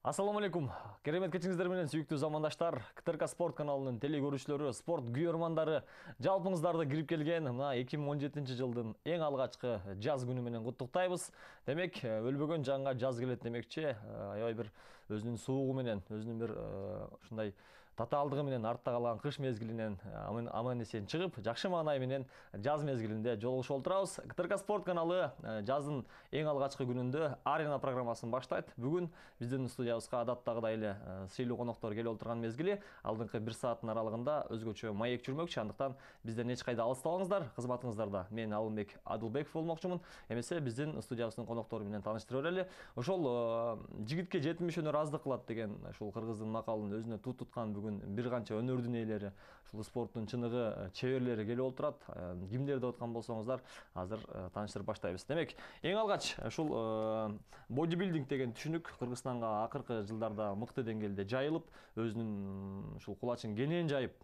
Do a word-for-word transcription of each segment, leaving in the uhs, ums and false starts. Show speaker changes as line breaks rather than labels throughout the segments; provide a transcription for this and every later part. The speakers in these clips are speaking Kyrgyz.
Ассаламу алейкум. Керемет кечиңиздер менен сүйүктүү замандаштар, КТРК спорт каналынын теле көрүүчүлөрү, спорт күйөрмандары, жалпыңыздарды кирип келген мына эки миң он жетинчи жылдын эң алгачкы жаз күнү менен куттуктайбыз. Демек, өлбөгөн жанга жаз келет демекчи, аябай бир өзүнүн суугу менен, өзүнүн бир ушундай татаалдыгы менен артта калган кыш мезгилинен аман эсен чыгып, жакшы маанай менен жаз мезгилинде жолугушуп отурабыз. КТРК спорт каналы жаздын эң алгачкы күнүндө арена программасын баштайт. Бүгүн биздин студиябызга адаттагыдай эле сыйлуу коноктор келип отурган мезгили, алдыңкы бир сааттын аралыгында өзгөчө маек жүрмөкчү. Андыктан бизден эч кайда алыстабаңыздар. Кызматыңыздарда мен Алымбек Адылбеков болмокчумун. Эмесе биздин студиябыздын коноктору менен тааныштырып берели. Ошол жигитке жетимиш өнөр аздык кылат деген ушул кыргыздын макалын өзүнө тут туткан бүгүн бир канча өнөрдүн ээлери, ушул спорттун чыныгы чеберлери келип отурат. Кимдер деп аткан болсоңуздар, азыр тааныштырып баштайбыз. Демек, эң алгач ушул бодибилдинг деген түшүнүк Кыргызстанга акыркы жылдарда мыкты деңгээлде жайылып, өзүнүн ушул кулачын кенен жайып,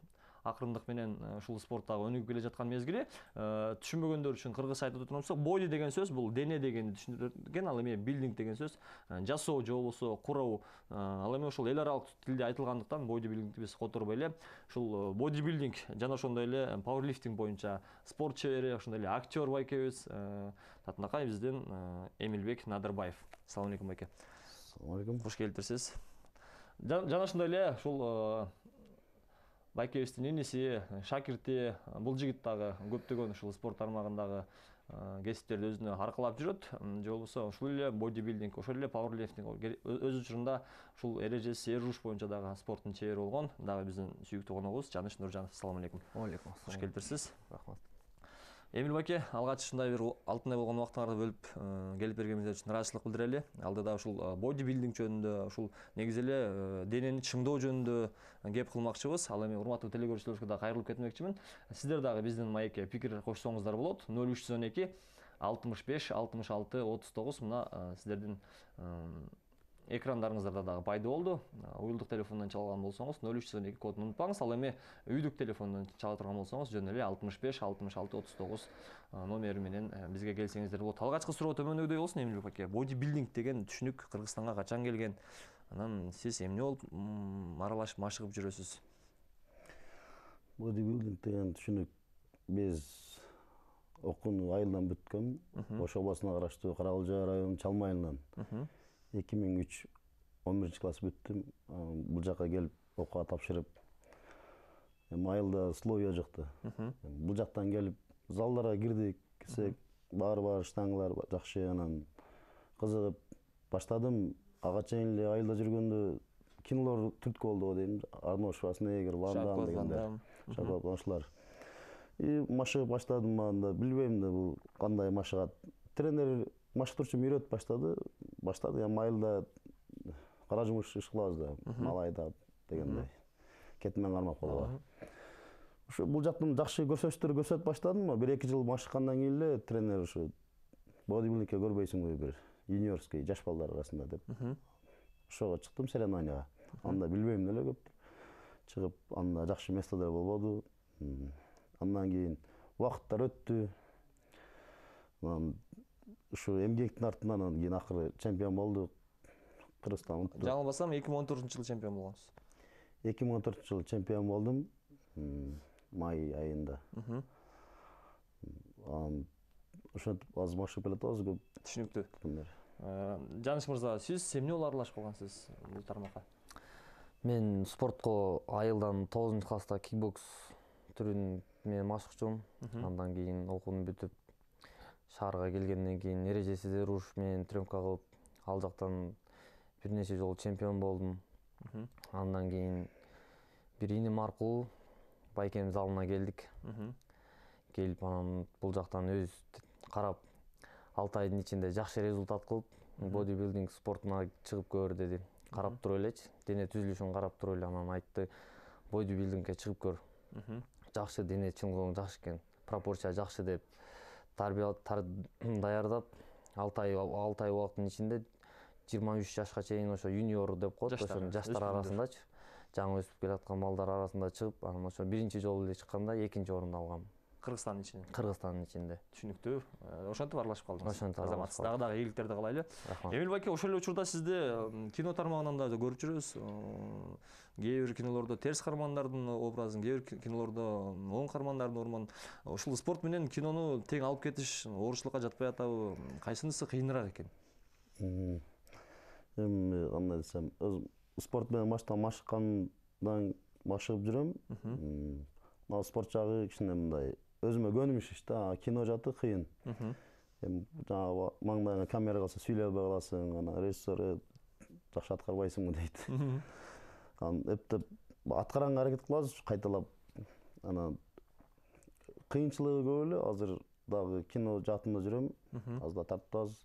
акырындык менен ушул спорттагы өнүгүп келе жаткан мезгили. Түшүнбөгөндөр үчүн кыргызча айтып отурсак, боди деген сөз бул дене дегенди түшүндүрөт. Ал эми билдинг деген сөз жасоо же болбосо куруу. Ал эми ошол эл аралык тилде айтылгандыктан бодибилдингди биз которбой эле ушул бодибилдинг жана ошондой эле пауэрлифтинг боюнча спорт чебери, ошондой эле актер байкебиз, татынакай биздин Эмилбек Надырбаев. Ассаламу алейкум байке.
Ассаламу алейкум.
Кош келиптирсиз. Жана ошондой эле ушул байкебиздин иниси, шакирти, бул жигит дагы көптөгөн ушул спорт тармагындагы кесиптерди өзүнө аркалап жүрөт. Же болбосо ушул эле бодибилдинг, ошол эле пауэрлифтинг өз учурунда ушул эрежеси эруш боюнча дагы спорттун чебери болгон. Дагы биздин сүйүктүү коногубуз Жаныш Нуржанов. Ассаламу алейкум.
Алейкум.
Кош келиптирсиз.
Рахмат.
Эмил байке, алгач ушундай бир алтындай болгон убактыңарды бөлүп келип бергениңиз үчүн ыраазычылык билдирели. Алдыда ушул бодибилдинг жөнүндө, ушул негизи эле денени чыңдоо жөнүндө кеп кылмакчыбыз. Ал эми урматтуу теле көрүүчүлөрүбүзгө да кайрылып кетмекчимин. Сиздер дагы биздин маекке пикир кошсоңуздар болот. ноль үч жүз он эки алтымыш беш алтымыш алты отуз тогуз мына сиздердин экрандарыңыздарда дагы пайда болду. Уюлдук телефондон чалган болсоңуз ноль үч жүз он эки кодун унутпаңыз. Ал эми үйдүк телефондон чала турган болсоңуз жөн эле алтымыш беш алтымыш алты отуз тогуз номери менен бизге келсеңиздер болот. Алгачкы суроо төмөндөгүдөй болсун Эмилбек байке. Бодибилдинг деген түшүнүк Кыргызстанга качан келген? Анан сиз эмне болуп аралашып машыгып жүрөсүз?
Бодибилдинг деген түшүнүк биз окууну айылдан бүткөм. Ош областына караштуу Каракылжа районунун Чалма айылынан эки миң үч он биринчи класс бүттүм. Бул жака келип окууга тапшырып, эми айылда условия жокто. Бул жактан келип залдарга кирдик, кирсек баары-баары штангалар жакшы, анан кызыгып баштадым. Ага чейин эле айылда жүргөндө кинолор түрткү болду го дейм. Арнольд Шварценеггер, Ван Дам дегендер, Жан-Клод Ван И машыгып баштадым, анда билбейм да бул кандай машыгат. Тренер машыктыруучум үйрөтүп баштады. Баштады, эми айылда кара жумуш иш кылабыз да, мал айдап дегендей. Кетимен кармап калгыла. Ушу бул жактан жакшы көрсөтүштөр көрсөтүп баштадым. бир эки жыл машыккандан кийин эле тренер ушу бодибилдингке көрбөйсүңбү бир юниорский жаш балдар арасында деп. Ошого чыктым соревнованияга. Анда билбейм деле көп. Чыгып, анда жакшы местодо болбоду. Андан кийин убакыттар өттү. Ушу эмгектин артынан анан кийин акыры чемпион болдук. Кыргызстан.
Жаңылбасам эки миң он төртүнчү жылы чемпион болгонсуз.
эки миң он төртүнчү жылы чемпион болдум. Май айында. Анан ошентип азыр машыгып келатабыз көп.
Түшүнүктүү. Жаныш мырза, сиз эмне болуп аралашып калгансыз бул тармакка?
Мен спортко айылдан тогузунчу класста кикбокс түрүн менен машыкчумун. Андан кийин окууну бүтүп шаарга келгенден кийин эрежесиз эруш менен тренировка кылып, ал жактан бир нече жолу чемпион болдум. Андан кийин бир иним аркылуу байкем залына келдик. Келип анан бул жактан өз карап алты айдын ичинде жакшы результат кылып, бодибилдинг спортуна чыгып көр деди. Карап туруп элечи, дене түзүлүшүн карап туруп эле анан айтты, бодибилдингке чыгып көр. Жакшы дене чыңдооң жакшы экен, пропорция жакшы деп даярдап, алты ай алты ай убакыттын ичинде жыйырма үч жашка чейин ошо юниор деп коет, ошо жаштар арасындачы, жаңы өсүп келаткан балдар арасында чыгып, анан ошо биринчи жолу эле чыкканда экинчи орунду алгам.
Кыргызстандын ичинен.
Кыргызстандын ичинде.
Түшүнүктүү. Ошентип аралашып калдыңыз.
Ошентип аралашып
Азамат, дагы дагы ийгиликтерди каалайлы.
Рахмат.
Эмил байке, ошол эле учурда сизди кино тармагынан да көрүп жүрөбүз. Кээ бир кинолордо терс каармандардын образын, кээ бир кинолордо оң каармандардын ормон. Ушул спорт менен кинону тең алып кетиш оорчулукка жатпай атабы? Кайсынысы кыйыныраак экен?
Эми кандай десем, спорт менен баштан машыккандан машыгып жүрөм. Мына спорт жагы кичине мындай өзүмө көнүм иш да, кино жаты кыйын. Эми жанагы маңдайыңа камера калса сүйлөй албай каласың, анан режиссер жакшы аткарбайсыңбы дейт. Анан эптеп аткаранга аракет кылабыз кайталап. Анан кыйынчылыгы көп эле, азыр дагы кино жатында жүрөм, аз да тартабыз.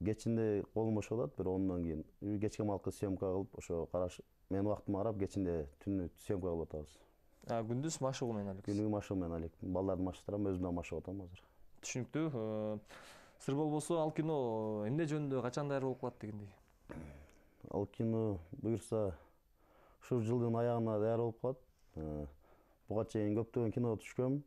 Кечинде колум бошо калат, бир ондан кийин кечке малкы съемка кылып, ошо караш менин убактыма карап кечинде түнү съемка кылып атабыз.
А күндүз машыгуу менен алек.
Күнүгү машыгуу менен алек. Балдарды машыктырам, өзүм да машыгып атам азыр.
Түшүнүктүү. Сыр болбосо ал кино эмне жөнүндө качан даяр болуп калат дегендей?
Ал кино буюрса ушул жылдын аягына даяр болуп калат. Буга чейин көптөгөн киного түшкөм.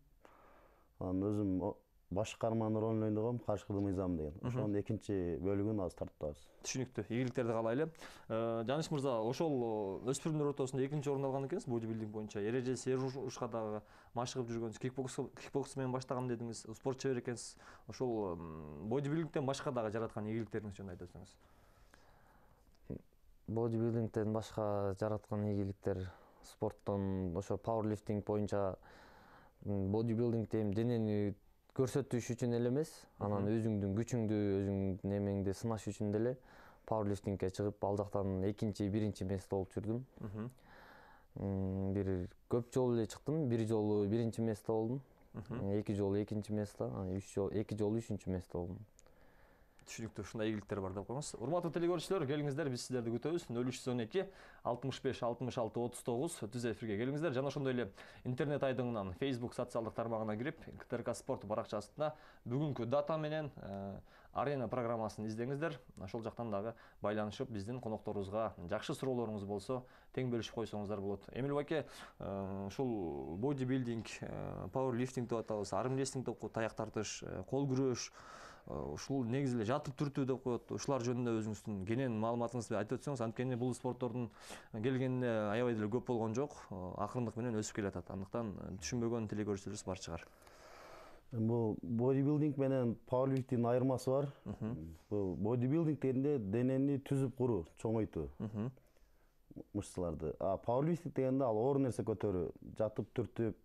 Анан өзүм баш каармандын ролун ойногом, Карышкы мыйзам деген. Ошонун экинчи бөлүгүн азыр тартабыз.
Түшүнүктүү. Ийгиликтерди каалайлы. Жаныш мырза, ошол өспүрүмдөр ортосунда экинчи орун алган экенсиз бодибилдинг боюнча. Эрежеси Эрушка дагы машыгып жүргөнсүз. Кикбокс кикбокс менен баштагам дедиңиз. Спорт чебер экенсиз. Ошол бодибилдингден башка дагы жараткан ийгиликтериңиз жөнүндө айтып өтсөңүз.
Бодибилдингден башка жараткан ийгиликтер спорттон ошо пауэрлифтинг боюнча бодибилдингде эми денени көрсөтүш үчүн эле эмес, анан өзүңдүн күчүңдү, өзүңдүн эмеңди сынаш үчүн деле пауэрлифтингке чыгып, ал жактан экинчи, биринчи место болуп жүрдүм. Бир көп жолу эле чыктым, бир жолу биринчи место болдум, эки жолу экинчи место, анан үч жолу эки жолу үчүнчү место болдум.
Түшүнүктүү, ушундай ийгиликтер бар деп коюңуз. Урматтуу телекөрүүчүлөр, келиңиздер, биз сиздерди күтөбүз. нөл үч жүз он эки алтымыш беш алтымыш алты отуз тогуз түз эфирге келиңиздер. Жана ошондой эле интернет айдыңынан Facebook социалдык тармагына кирип, КТРК спорт баракчасына бүгүнкү дата менен арена программасын издеңиздер. Ошол жактан дагы байланышып, биздин конокторубузга жакшы суроолоруңуз болсо, тең бөлүшүп койсоңуздар болот. Эмил байке, ушул бодибилдинг, пауэрлифтинг деп атабыз, армрестлинг деп коет, таяк тартыш, кол күрөш, ушул негизи эле жатып түртүү деп коет. Ушулар жөнүндө өзүңүздүн кенен маалыматыңызды айтып өтсөңүз, анткени бул спорттордун келгенине аябай деле көп болгон жок, акырындык менен өсүп келатат. Андыктан түшүнбөгөн телекөрүүчүлөрүбүз бар чыгар.
Бул бодибилдинг менен пауэрлифтингдин айырмасы бар. Бул бодибилдинг дегенде денени түзүп куруу, чоңойтуу. Мышцаларды. А пауэрлифтинг дегенде ал оор нерсе көтөрүү, жатып түртүп,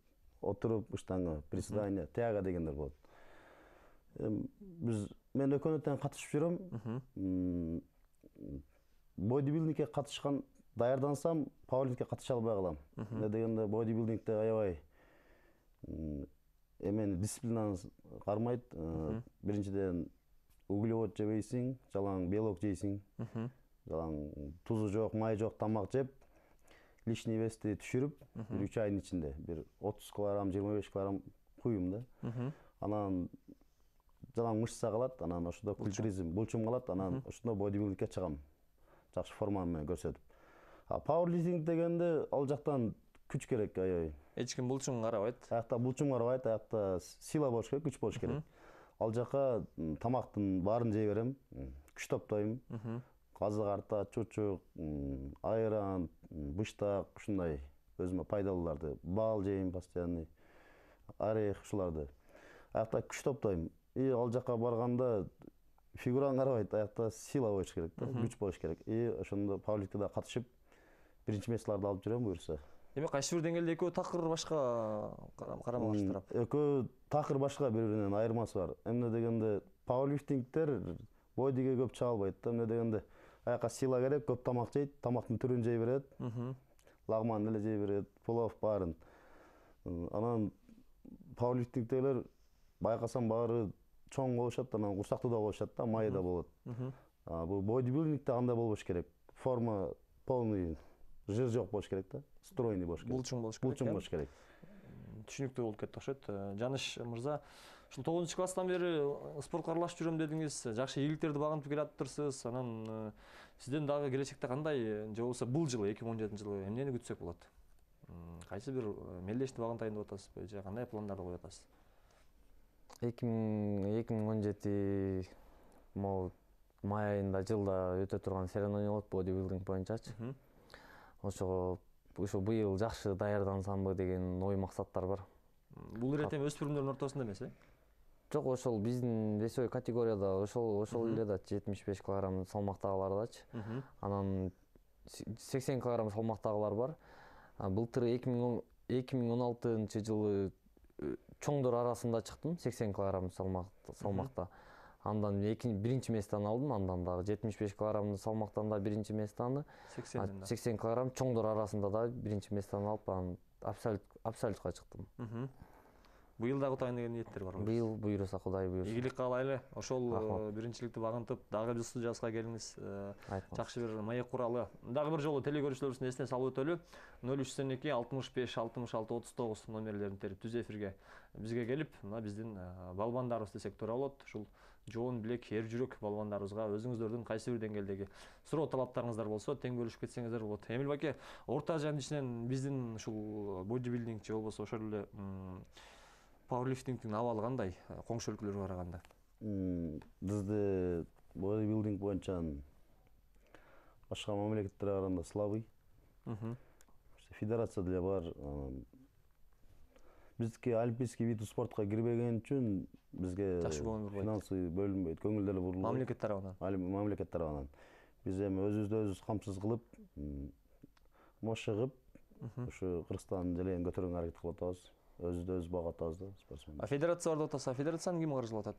отуруп штанга, приседание, тяга дегендер болот. Биз мен экөөнө тең катышып жүрөм. Бодибилдингке катышкан даярдансам, пауэрлифтингке катыша албай калам. Эмне дегенде бодибилдингде аябай эмени дисциплинаны кармайт. Биринчиден углевод жебейсиң, жалаң белок жейсиң. Жалаң тузу жок, май жок тамак жеп, лишний вести түшүрүп, бир үч айдын ичинде бир отуз килограмм, жыйырма беш килограмм куюм да. Анан жалаң мышца калат, анан ошондо культуризм, булчум калат, анан ошондо бодибилдингке чыгам. Жакшы форма менен көрсөтүп. А пауэрлифтинг дегенде ал жактан күч керек аябай.
Эч ким булчум карабайт.
Аякта булчум карабайт, аякта сила болуш керек, күч болуш керек. Ал жака тамактын баарын жей берем, күч топтойм. Казы карта, чучук, айран, быштак, ушундай өзүмө пайдалууларды, бал жейм постоянный, орех ушуларды. Аякта күч топтойм. И ал жака барганда фигураны карабайт, аякта сила болуш керек, күч болуш керек. И ошондо пауэрлифтингге катышып, биринчи местолорду алып жүрөм буюрса.
Демек, кайсы бир деңгээлде экөө такыр башка карама каршы тарап.
Экөө такыр башка, бири-биринен айырмасы бар. Эмне дегенде пауэрлифтингдер бодиге көп чыга албайт да. Эмне дегенде аякка сила керек, көп тамак жейт, тамактын түрүн жей берет. Лагман эле жей берет, плов баарын. Анан пауэрлифтингдегилер байкасам баары чоң болушат, анан курсактуу да болушат да, майы да болот. Бул бодибилдингде андай болбош керек. Форма полный, жыр жок болуш керек да, стройный болуш керек.
Булчуң болуш керек.
Булчуң болуш керек.
Түшүнүктүү болуп кетти окшойт. Жаныш мырза, ушул тогузунчу класстан бери спортко аралашып жүрөм дедиңиз, жакшы ийгиликтерди багынтып келатыптырсыз. Анан сизден дагы келечекте кандай, же болбосо бул жылы эки миң он жетинчи жылы эмнени күтсөк болот? кайсы бир мелдешти багын тайындап атасызбы же кандай пландарды коюп атасыз?
эки миң он жети могу май айында жылда өтө турган соревнование болот бодибилдинг боюнчачы. Ошого ушу быйыл жакшы даярдансамбы деген ой максаттар бар.
Бул ирет эми өспүрүмдөрдүн ортосунда эмес, э?
Жок, ошол биздин весовой категорияда ошол ошол эле да жетимиш беш килограмм салмактагылардачы. Анан сексен килограмм салмактагылар бар. Былтыр эки миң он алтынчы жылы чоңдор арасында чыктым, сексен килограмм салмакта. Андан биринчи месттен алдым, андан дагы жетимиш беш килограмм салмактан да биринчи месттен, сексен килограмм чоңдор арасында да биринчи месттен алып, анан абсолютка чыктым.
Быйыл дагы утайын деген ниеттер барбы?
Быйыл буйруса Кудай буйруса.
Ийгилик каалайлы. Ошол биринчиликти багынтып, дагы бир жазга келиңиз. Жакшы бир маек куралы. Дагы бир жолу телегөрүүчүлөрүбүздүн эсине салып өтөлү. ноль үч сексен эки алтымыш беш алтымыш алты отуз тогуз номерлерин терип түз эфирге бизге келип, мына биздин балбандарыбыз десек туура болот. Ушул жоон билек, эр жүрөк балбандарыбызга өзүңүздөрдүн кайсы бир деңгээлдеги суроо талаптарыңыздар болсо, тең бөлүшүп кетсеңиздер болот. Эмил баке, орто азиянын ичинен биздин ушул бодибилдинг же болбосо ошол эле пауэрлифтингдин абалы кандай коңшу өлкөлөргө караганда?
Бизде бодибилдинг боюнча башка мамлекеттерге караганда слабый. Федерация деле бар. Биздики олимпийский вид спортко кирбеген үчүн бизге финансы бөлүнбөйт, көңүл деле бурулбайт.
Мамлекет тарабынан.
Мамлекет тарабынан. Биз эми өзүбүздү өзүбүз камсыз кылып, машыгып, ушу Кыргызстандын желегин көтөргөнгө аракет кылып атабыз. Өзүбүздү өзүбүз багып атабыз да, спортсмен.
А федерация бар деп атасыз, федерацияны ким каржылап атат?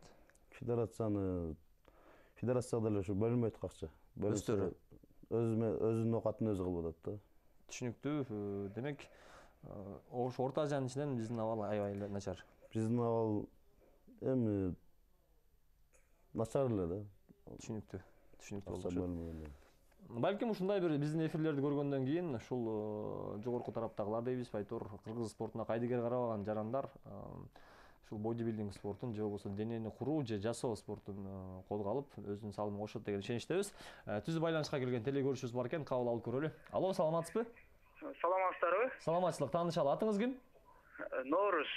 Федерацияны федерацияда деле ушу бөлүнбөйт акча.
Өздөрү
өзүнүн оокатын өзү кылып атат да.
Түшүнүктүү. Демек, ошо орто азиянын ичинен биздин абал аябай эле начар.
Биздин абал эми начар эле да.
Түшүнүктүү. Түшүнүктүү болушу. Балким ушундай бир биздин эфирлерди көргөндөн кийин ушул жогорку тараптагылар дейбиз, айтор кыргыз спортуна кайдыгер карабаган жарандар ушул бодибилдинг спортун же болбосо денени куруу же жасоо спортун колго алып өзүнүн салымын кошот деген ишеничтебиз. Түз байланышка келген телегөрүүчүбүз бар экен, кабыл алып көрөлү. Алло, саламатсызбы?
Саламатсыздарбы?
Саламатчылык, таанышалы. Атыңыз ким?
Ноорус.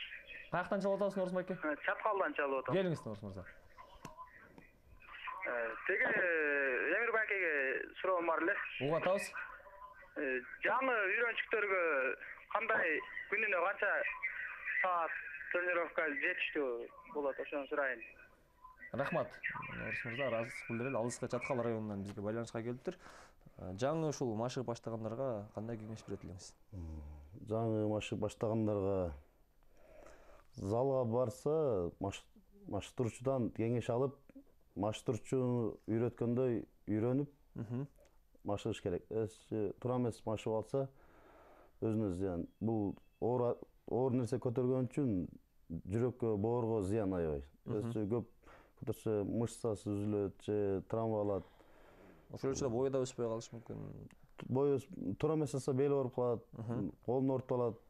Каяктан чалып атасыз, Ноорус байке?
Чаткалдан чалып атам.
Келиңиз, Ноорус мырза.
Теге Эмир байкеге суроом бар эле.
Угуп атабыз.
Жаңы үйрөнчүктөргө кандай күнүнө канча саат тренировка жетиштүү болот, ошону сурайын.
Рахмат. Ноорус мырза, ыраазычылык билдирели. Алыска Чаткал районунан бизге байланышка келиптир. Жаңы ушул машыгып баштагандарга кандай кеңеш берет элеңиз?
Жаңы машыгып баштагандарга залга барса, маштыруучудан кеңеш алып, маштыруучу үйрөткөндөй үйрөнүп, машыгыш керек. Туура эмес машыгып алса, өзүнө зыян. Бул оор нерсе көтөргөн үчүн жүрөккө, боорго зыян аябай. Өзү көп көтөрсө мышцасы үзүлөт же травма алат.
Ошол үчүн бою да өспөй калышы мүмкүн.
Бою туура эмес алса бели ооруп калат, колун ооруп алат.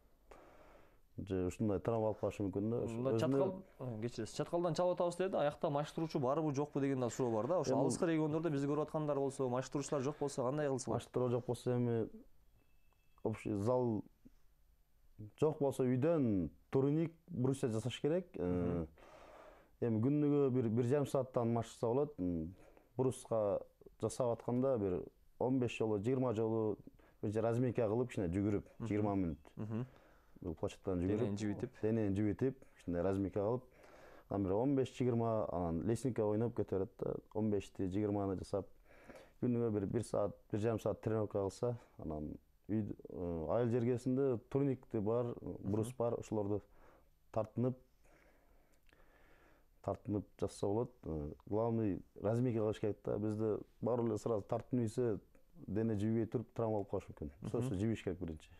Же ушундай травма алып калышы мүмкүн да.
Чаткал, кечиресиз. Чаткалдан чалып атабыз деди. Аякта маштыруучу барбы, жокпу деген да суроо бар да. Ошо алыскы региондордо бизди көрүп аткандар болсо, маштыруучулар жок болсо кандай кылсак?
Маштыруу жок болсо эми общий зал жок болсо үйдөн турник, брусья жасаш керек. Эми күнүгө бир бир жарым сааттан машыкса болот. Бруска жасап атканда бир он беш жолу, жыйырма жолу бир разминка кылып, кичине жүгүрүп, жыйырма мүнөт. Бул площадьтан жүгүрүп,
денени жибитип,
денени жибитип, кичине разминка кылып, анан бир он беш жыйырма, анан лестница ойноп көтөрөт да, он бешти жыйырманы жасап, күнүгө бир бир саат, бир жарым саат тренировка кылса, анан үй айыл жергесинде турникти бар, брус бар, ошолорду тартынып тартынып жасса болот. Главный разминка кылыш керек да. Бизде баары эле сразу тартынып ийсе, дене жибей туруп травма алып калышы мүмкүн. Сөзсүз жибиш керек биринчи.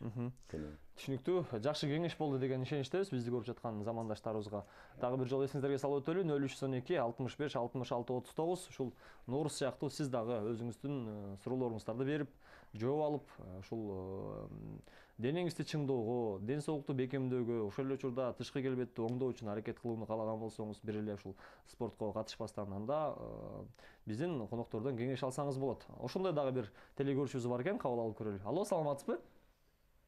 Түшүнүктүү. Жакшы кеңеш болду деген ишеничтебиз. Бизди көрүп жаткан замандаштарыбызга дагы бир жолу эсиңиздерге салып өтөлү. ноль үч сексен эки алтымыш беш алтымыш алты отуз тогуз. Ушул Ноорус сыяктуу сиз дагы өзүңүздүн суроолоруңуздарды берип, жооп алып, ушул денеңизди чыңдоого, ден соолукту бекемдөөгө, ошол эле учурда тышкы келбетти оңдоо үчүн аракет кылууну каалаган болсоңуз, бир эле ушул спортко катышпастан анда биздин коноктордон кеңеш алсаңыз болот. Ошондой дагы бир телегөрүүчүбүз бар экен, кабыл алып көрөлү. Алло, саламатсызбы?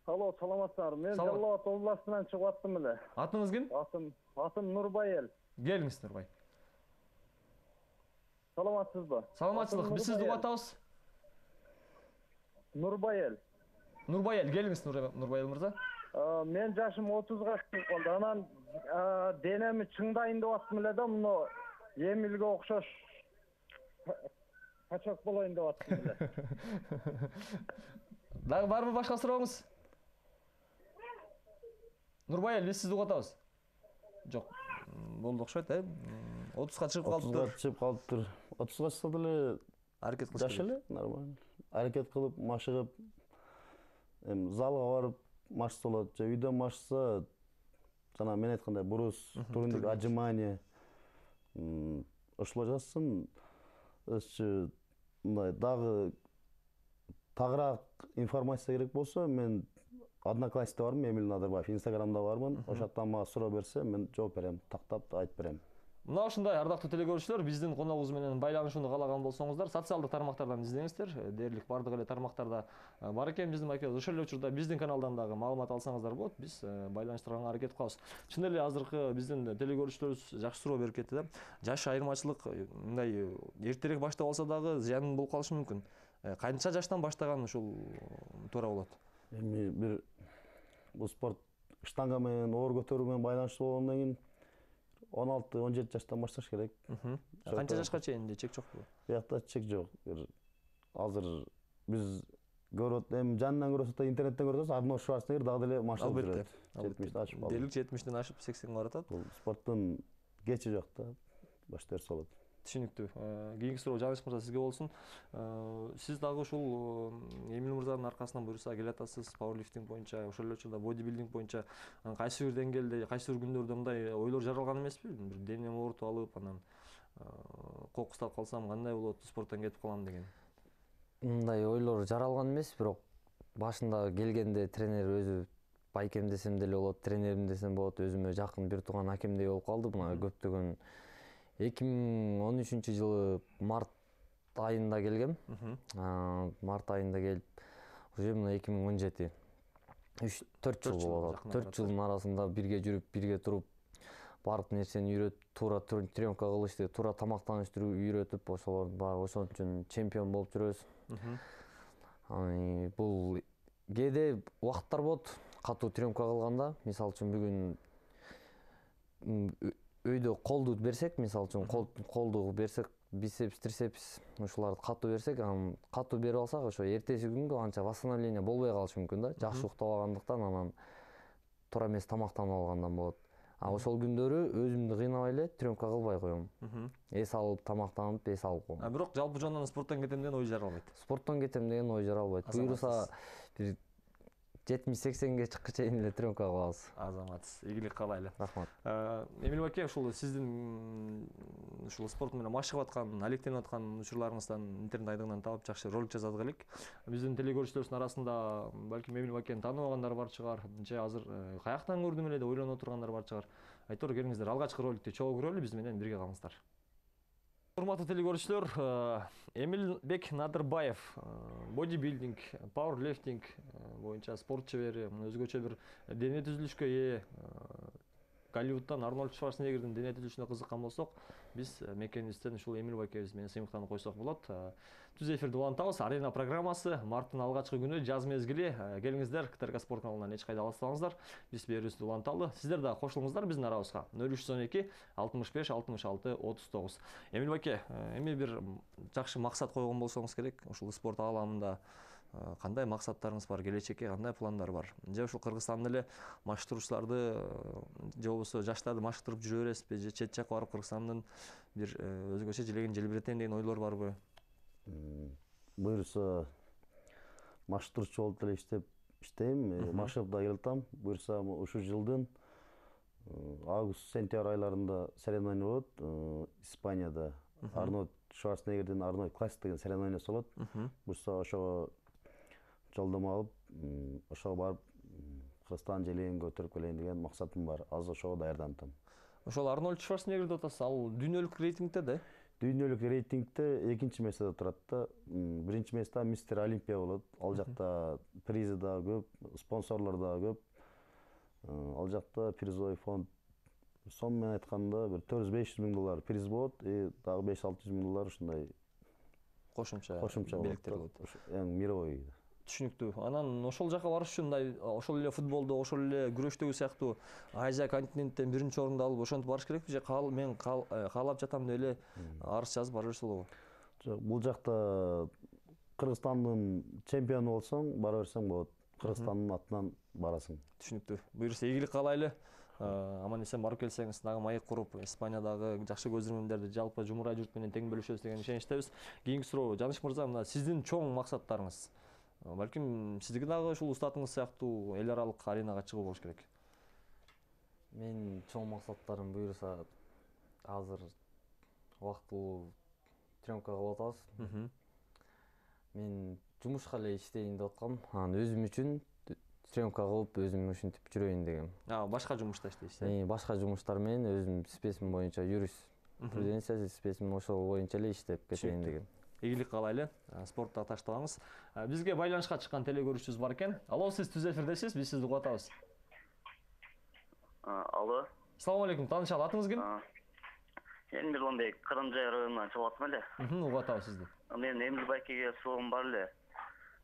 Алло, саламатсыздарбы? Мен
Салам.
Жалал Абад областынан чыгып аттым эле.
Атыңыз ким?
Атым, атым Нурбайел.
Келиңиз Нурбай.
Саламатсызбы?
Саламатсыздык.
Атым
Биз сизди
Нурбайел.
угуп атабыз.
Нурбайел.
Нурбайел, келиңиз Нурбайел мырза.
А, мен жашым отузга чыгып калды. Анан а, денеми чыңдайын деп аттым эле да, муну Эмилге окшош качак болоюн деп аттым эле.
Дагы барбы башка сурооңуз? Нурбайел, биз сизди угуп атабыз. Жок. Болду окшойт, э? отузга чыгып калыптыр.
отузга чыгып калыптыр. отузга чыкса деле
Аракет кылыш
жаш эле, нормально. Аракет кылып, машыгып, эми залга барып машса болот же үйдөн машса, жана мен айткандай брус, турник, отжимание ошолор жазсын. Өзчү мындай дагы тагыраак информация керек болсо, мен Одноклассникте бармын, Эмил Надырбаев, Инстаграмда бармын. Ошол жактан мага суроо берсе, мен жооп берем, тактап айтып берем.
Мына ушундай ардактуу телекөрүүчүлөр, биздин коногубуз менен байланышууну каалаган болсоңуздар, социалдык тармактардан издеңиздер. Дээрлик бардык эле тармактарда бар экен биздин макет. Ошол эле учурда биздин каналдан дагы маалымат алсаңыздар болот. Биз байланыштырганга аракет кылабыз. Чын эле азыркы биздин телекөрүүчүлөрүбүз жакшы суроо берип кетти да. Жаш айырмачылык мындай эртерээк баштап алса дагы зыян болуп калышы мүмкүн. Канча жаштан баштаган ушул туура болот?
Эми бир бул спорт штанга менен оор көтөрүү менен байланыштуу болгондон кийин он алты он жети жаштан башташ керек.
Канча жашка чейин де чек жокпу?
Биякта чек жок. Азыр биз көрөт, эми жанынан көрөсөк да, интернеттен көрөсөз, Арнольд Шварценеггер дагы деле машыгып жүрөт. жетимишти ашып калды.
Дээрлик жетимиштен ашып сексенге баратат.
Бул спорттун кечи жок да, башта берсе болот.
Түшүнүктүү. Кийинки суроо Жаныш мырза сизге болсун. Сиз дагы ушул Эмил мырзанын аркасынан буюрса келатасыз, пауэрлифтинг боюнча, ошол эле учурда бодибилдинг боюнча кайсы бир деңгээлде, кайсы бир күндөрдө мындай ойлор жаралган эмеспи? Бир денем оорутуп алып, анан кокустап калсам кандай болот, спорттон кетип калам деген.
Мындай ойлор жаралган эмес, бирок башында келгенде тренер өзү байкем десем деле болот, тренерим десем болот, өзүмө жакын бир тууган акемдей болуп калды. Мына көптөгөн эки миң он үчүнчү жылы март айында келгем. Март айында келип, уже мына эки миң он жети үч төрт жыл болот. төрт жылдын арасында бирге жүрүп, бирге туруп, баардык нерсени үйрөтүп, туура тренировка кылышты, туура тамактанышты үйрөтүп, ошолор баягы ошон үчүн чемпион болуп жүрөбүз. Бул кээде убакыттар болот, катуу тренировка кылганда, мисалы үчүн бүгүн өйдө колду берсек, мисалы үчүн колду берсек, бицепс, трицепс ушуларды катуу берсек, анан катуу берип алсак, ошо эртеси күнгө анча восстановление болбой калышы мүмкүн да. Жакшы уктап алгандыктан, анан туура эмес тамактанып алгандан болот. А ошол күндөрү өзүмдү кыйнабай эле тренировка кылбай коем. Эс алып, тамактанып, эс алып коем.
А бирок жалпы жонунан спорттон кетем деген ой жаралбайт.
Спорттон кетем деген ой жаралбайт. Буюрса бир жетимиш сексенге чыкка чейин эле тренировка кылабыз.
Азаматсыз, ийгилик каалайлы.
Рахмат.
Эмил баке, ушул сиздин ушул спорт менен машыгып аткан, алектенип аткан учурларыңыздан интернет айдыгынан таап жакшы ролик жазадык элек. Биздин телекөрүүчүлөрүбүздүн арасында балким Эмил бакени тааныбагандар бар чыгар, же азыр каяктан көрдүм эле деп ойлонуп отургандар бар чыгар. Айтор, келиңиздер, алгачкы роликти чогуу көрөлү, биз менен бирге калыңыздар. Урматтуу телекөрүүчүлөр, Эмил Бек Надырбаев, бодибилдинг, пауэрлифтинг боюнча спорт чебери, өзгөчө бир дене түзүлүшкө ээ. Голливудтан Арнольд Шварценеггердин дене түзүлүшүнө кызыккан болсок, биз мекенибизден ушул Эмил бакебиз менен сыймыктанып койсок болот. Түз эфирди улантабыз. Арена программасы марттын алгачкы күнү, жаз мезгили. Келиңиздер, КТРК спорт каналынан эч кайда алыстабаңыздар. Биз берүүбүздү уланталы. Сиздер да кошулуңуздар биздин арабызга. нөл үч жүз он эки алтымыш беш алтымыш алты отуз тогуз. Эмил баке, эми бир жакшы максат койгон болсоңуз керек, ушул спорт ааламында кандай максаттарыңыз бар, келечекке кандай пландар бар? Же ушул Кыргызстандын эле машыктыруучуларды же болбосо жаштарды машыктырып жүрө бересизби, же чет жакка барып Кыргызстандын бир өзгөчө желегин желбиретем деген ойлор барбы?
Буюрса машыктыруучу болуп деле иштеп иштейм, машыгып да келатам. Буюрса ушул жылдын август сентябрь айларында соревнование болот Испанияда. Арнольд Шварценеггердин Арнольд Классик деген соревнованиясы болот. Буюрса ошого жолдомо алып, ошого барып Кыргызстан желегин көтөрүп келейин деген максатым бар. Азыр ошого даярданып атам.
Ошол Арнольд Шварценеггер деп атасыз, ал дүйнөлүк рейтингде да?
дүйнөлүк рейтингде экинчи месте турат да. Биринчи месте мистер Олимпия болот. Ал жакта призи да көп, спонсорлор да көп. Ал жакта призовый фонд сом менен айтканда бир төрт жүз беш жүз миң доллар приз болот, и дагы беш алты жүз миң доллар ушундай
кошумча
кошумча
белектер болот.
Эң мировой.
Түшүнүктүү. Анан ошол жака барыш үчүн мындай ошол эле футболдо, ошол эле күрөштөгү сыяктуу Азия континенттен биринчи орунду алып ошентип барыш керекпи же мен каалап жатам деп эле арыз жазып бара берсе болобу?
Жок, бул жакта Кыргызстандын чемпиону болсоң, бара берсең болот. Кыргызстандын атынан барасың.
Түшүнүктүү. Буюрса ийгилик каалайлы. Аман эсен барып келсеңиз, дагы маек куруп, Испаниядагы жакшы көзөрмөндөрдү жалпы жумурай журт менен тең бөлүшөбүз деген ишеничтебиз. Кийинки суроо, Жаныш мырза, мына сиздин чоң максаттарыңыз. Балким сиздики дагы ушул устатыңыз сыяктуу эл аралык аренага чыгуу болуш керек.
Менин чоң максаттарым буюрса азыр убактылуу тренировка кылып атабыз. Мен жумушка эле иштейин деп аткам. Анан өзүм үчүн тренировка кылып, өзүм ушинтип жүрөйүн дегем.
А, башка жумушта иштейсиз?
Мен башка жумуштар менен өзүм специм боюнча юриспруденция специм ошол боюнча эле иштеп кетейин дегем.
Ийгилик каалайлы. Спортто таштабаңыз. Бизге байланышка чыккан телекөрүүчүбүз бар экен. Алло, сиз түз эфирдесиз, биз сизди угуп атабыз.
Алло.
Assalomu alaykum. Танышалы, атыңыз ким?
Эмил Омбек, Кырымжай районунан чыгып атам эле.
Угуп атабыз сизди.
Мен Эмил байкеге суроом бар эле.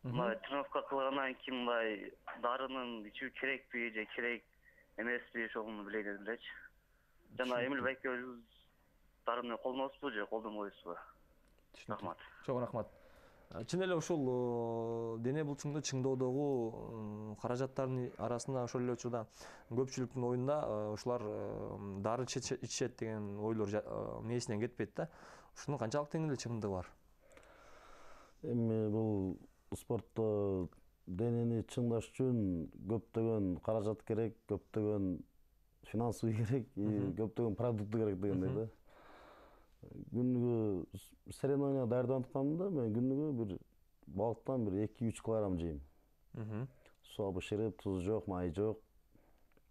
Мына тренировка кылгандан кийин мындай дарынын ичүү керекпи же керек эмеспи, ошону билейин дедим элечи. Жана Эмил байке өзүңүз дарыны колдоносузбу же колдонбойсузбу? Рахмат.
Чоң рахмат. Чын эле ушул дене булчуңду чыңдоодогу каражаттардын арасында ошол эле учурда көпчүлүктүн оюнда ушулар дары ичишет деген ойлор мээсинен кетпейт да. Ушунун канчалык тең эле чындыгы бар?
Эми бул спортто денени чыңдаш үчүн көптөгөн каражат керек, көптөгөн финансовый керек, көптөгөн продукты керек дегендей да. Күнүгө соревнования даярданып атканда мен күнүгө бир балыктан бир эки үч килограмм жейм. Суу бышырып, тузу жок, май жок.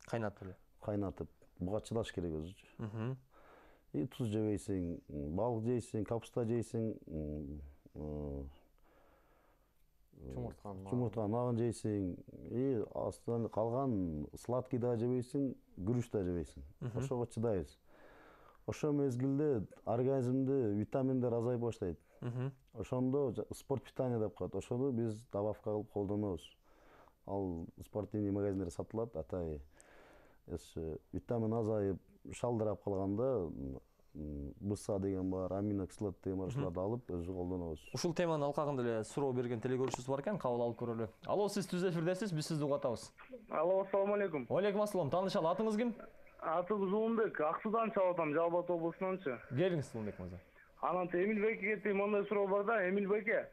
Кайнатып эле.
Кайнатып. Буга чыдаш керек өзүчү. И туз жебейсиң, балык жейсиң, капуста жейсиң,
Чумуртканын
чумуртканын агын жейсиң, и астынан калган сладкий да жебейсиң, күрүч да жебейсиң. Ошого чыдайбыз. Ошол мезгилде организмде витаминдер азайып баштайт. Ошондо спорт питание деп коет. Ошону биз добавка кылып колдонобуз. Ал спортивный магазиндерде сатылат, атай. Витамин азайып, шалдырап калганда БСА деген бар, аминокислот деген бар, ошолорду алып өзү колдонобуз.
Ушул теманын алкагында эле суроо берген телекөрүүчүбүз бар экен, кабыл алып көрөлү. Алло, сиз түз эфирдесиз, биз сизди угуп атабыз.
Алло, ассаламу алейкум.
Алейкум ассалам. Таанышалы, атыңыз ким?
Атыбыз Улунбек, Ак Суудан чалып атам, Жалал Абад облусунанчы.
Келиңиз Улунбек мырза.
Анан Эмил байкеге тең мындай суроо бар да, Эмил байке.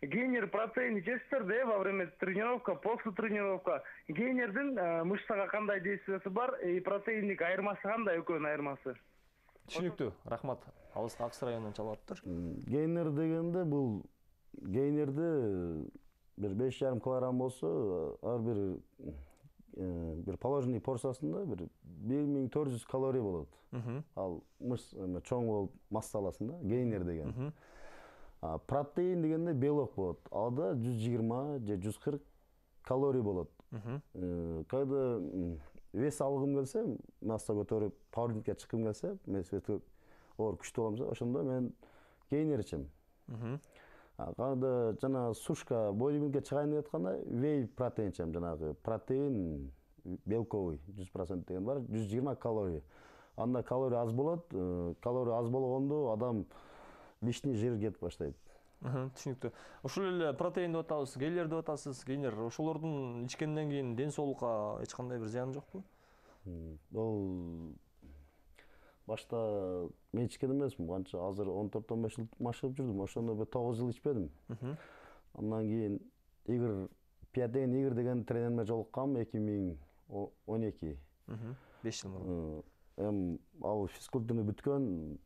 Гейнер протеин ичесиздер да во время тренировка, после тренировка. Гейнердин мышцага кандай действиясы бар, и протеиндик айырмасы кандай, экөөнүн айырмасы?
Түшүнүктүү. Рахмат. Алыс Акс районунан чалып атыптыр.
Гейнер дегенде бул гейнерде бир беш жарым килограмм болсо, ар бир бир положенный порциясында бир бир миң төрт жүз калорий болот. Ал мышц чоң болуп массаласын да, гейнер деген. Протеин дегенде белок болот. Ада жүз жыйырма же жүз кырк калорий болот. Когда вес алгым келсе, масса көтөрүп, пауэрлифтингке чыккым келсе, мен оор күчтүү болом, ошондо мен гейнер ичем. Кандай жана сушка бодибилдингке чыгайын деп атканда вей протеин ичем, жанагы протеин белковый жүз процент деген бар, жүз жыйырма калорий. Анда калорий аз болот, калорий аз болгондо адам лишний жир кетип баштайт.
Түшүнүктүү. Ушул эле протеин деп атабыз, гейлер деп атасыз, гейнер. Ошолордун ичкенден кийин ден соолукка эч кандай бир зыяны жокпу?
Ол башта мен ичкен эмесмин, канча азыр он төрт он беш жыл машыгып жүрдүм, ошондо бир тогуз жыл ичпедим. Андан кийин Игорь Пиятеген Игорь деген тренерме жолуккам эки миң он эки.
беш жыл мурун.
Эм ал физкультураны бүткөн,